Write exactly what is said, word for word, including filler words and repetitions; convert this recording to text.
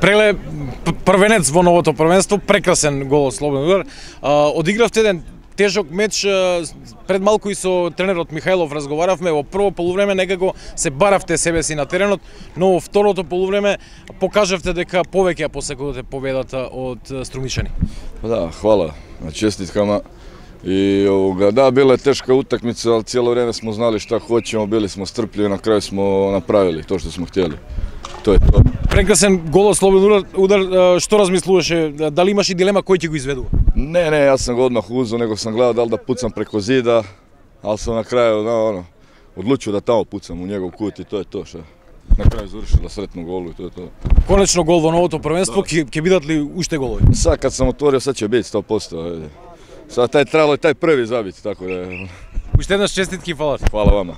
Преле првенец во новото првенство, прекрасен гол од слободен удар. Одигравте еден тежок меч, пред малку и со тренерот Михајлов разговаравме, во прво полувреме некако се баравте себе си на теренот, но во второто полувреме покажавте дека повеќе посекувате победата од Струмичани. Да, хвала на честиткама. И овога, да, била е тешка утакмица, ал цело време смо знали шта хоќемо, били смо стрпливи, на крај смо направили тоа што смо htjeli. Тоа е тоа. Прекрасен гол од слободен удар, што размислуваше, дали имаш и дилема кој ќе го изведува? Не, не, јас сам го одмах узо, него сам гледал дали да пуцам преко зида, ал сам на крај, да, оно, одлучил да тамо пуцам у негов кут и тоа е тоа што. На крај завршил да сретно голу и тоа е тоа. Конечно гол во новото првенство, ќе ќе бидат ли уште голови? Сега кад сам отворил, сега ќе биде сто проценти. Сега тај требало и тај први забит, така да. Уште еднаш честитки и фала. Фала вама.